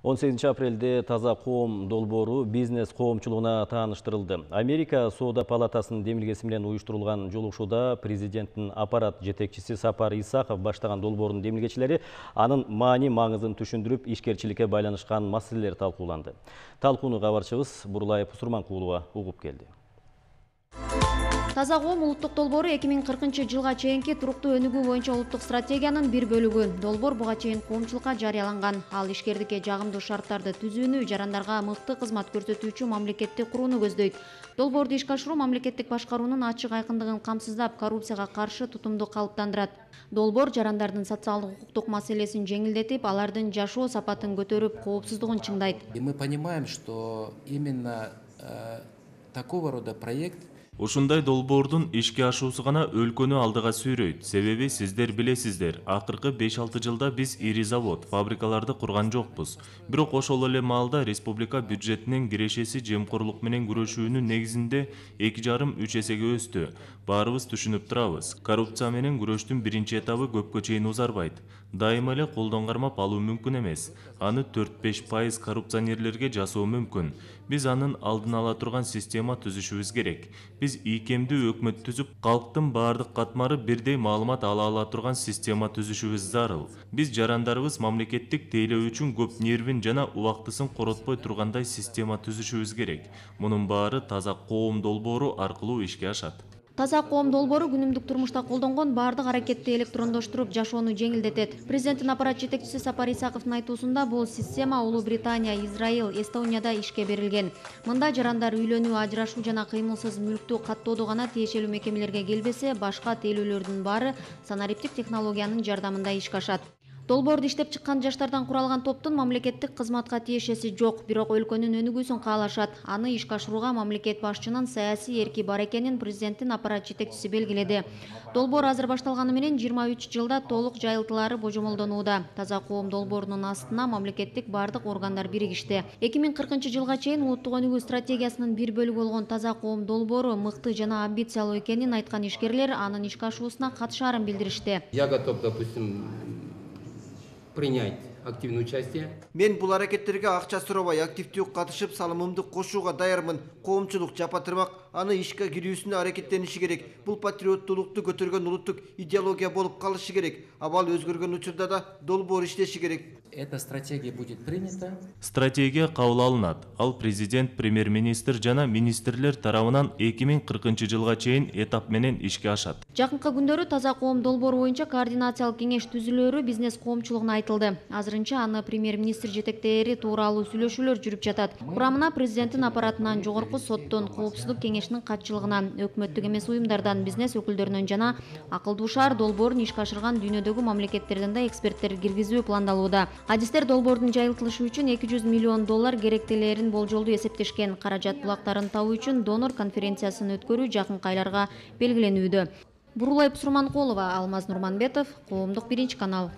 18 апрелде Таза коом долбоору бизнес коомчулугуна тааныштырылды. Америка Соода палатасынын демилгеси менен уюштурулган жолугушууда президенттин аппарат жетекчиси Сапар Исаков баштаган долбоордун демилгечилери анын маани-маңызын түшүндүрүп, ишкерчиликке байланышкан маселелер талкууланды. Талкууну кабарчыбыз Бурлай Пусурманкулова угуп келди. Таза коом улуттук долбоору 2040-жылга чейинки туруктуу өнүгүү боюнча улуттук стратегиянын бир бөлүгү. Долбоор буга чейин коомчулукка жарыяланган. Ал ишкердикке жагымдуу шарттарды түзүүнү, жарандарга мыкты кызмат көрсөтүүчү мамлекетти курууну көздөйт. Долбоорду ишке ашыруу мамлекеттик башкаруунун ачык айкындыгын камсыздап, коррупцияга каршы тутумду калыптандырат. Долбоор жарандардын социалдык укуктук маселесин жеңилдетип, алардын жашоо сапатын көтөрүп, коопсуздугун чыңдайт. И мы понимаем, что именно такого рода проект Ушундай долбоордун ишке ашуусу гана өлкөнү алдыга сүйрөйт. Себеби сиздер билесиздер, акыркы 5-6 жылда биз ири завод, фабрикаларды курган жокпуз. Бирок ошол эле маалда республика бюджетинин кирешеси жемкорлук менен күрөшүүнүн негизинде 2,5-3 эсеге өстү. Баарыбыз түшүнүп турабыз. Коррупция менен күрөштүн биринчи этабы көпкө чейин узарбайт. Дайыма эле колдон кармап алуу мүмкүн эмес. Аны 4-5% коррупционерлерге жасоо мүмкүн. Биз анын алдын ала турган система түзүшүбүз керек. Биз ийкемдүү өкмөт түзүп, калктын баардык катмары бирдей маалымат ала турган система түзүшүбүз зарыл. Биз жарандарыбыз мамлекеттик тейлөө үчүн көп нервин жана убактысын коротпой тургандай система түзүшүбүз керек. Мунун баары Таза коом долбоору аркылуу ишке ашат. Таза коом долбоору күнүмдүк турмушта колдонгон баардык аракетти электрондоштуруп, жашоону жеңилдетет. Президенттин аппарат жетекчиси Сапар Исаковдун айтуусунда бул система Улуу Британия, Израиль, Эстонияда ишке берилген. Мында жарандар үйлөнүү, ажырашуу жана кыймылсыз мүлктү каттоодо гана тиешелүү мекемелерге келбесе, башка тейлөөлөрдүн баары санариптик технологиянын жардамында ишке ашат. Долбоорду иштеп чыккан жаштардан куралган топтун мамлекеттик кызматка тиешеси жок, бирок өлкөнүн өнүгүүсүн каалашат. Аны ишке ашырууга мамлекет башчынын саясий эрки бар экенин президенттин аппарат жетекчиси белгиледи. Долбоор азыр башталганы менен 23 жылда толук жайылтылаары божомолдонууда. Таза коом долбоорунун астына мамлекеттик баардык органдар биригишти. 2040-жылга чейин улуттук өнүгүү стратегиясынын бир бөлүгү болгон Таза коом долбоору мыкты жана амбициялуу экенин айткан ишкерлер анын ишке ашуусуна катышаарын билдиришти. Я готов, допустим, принять активное участие. Мен бул аракеттерге акча сурабай активдүү катышып, салымымды кошууга даярмын. Коомчулук жапа-тырмак аны ишке кирүүсүнө аракеттениши керек. Бул патриоттуулукту көтөргөн улуттук идеология болуп калышы керек. Абал өзгөргөн учурда да долбоор иштеши керек. Эта стратегия будет принята. Стратегия кабыл алынат. Ал президент, премьер-министр жана министрлер тарабынан 2040-жылга чейин этап менен ишке ашат. Жакынкы күндөрү Таза коом долбоору боюнча координациялык кеңеш түзүлөөрү бизнес коомчулугуна айтылды. Азырынча аны премьер-министр жетектери тууралуу сүйлөшүүлөр жүрүп жатат. Курамына президенттин аппаратынан, жогорку соттон, коопсуздук кеңешинин катчылыгынан, өкмөттүк эмес уюмдардан, бизнес өкүлдөрүнөн жана акылдуу шаар долбоорун ишке ашырган дүйнөдөгү мамлекеттерден да эксперттер киргизүү пландалууда. Адистер долбоордун жайылтылышы үчүн $200 миллион керектелерин болжолдуу эсептешкен. Каражат булактарын табуу үчүн донор конференциясын өткөрүү жакынкы айларга белгиленүүдө. Бурлай Пусурманкулова, Алмаз Нурманбетов, Коомдук 1 канал.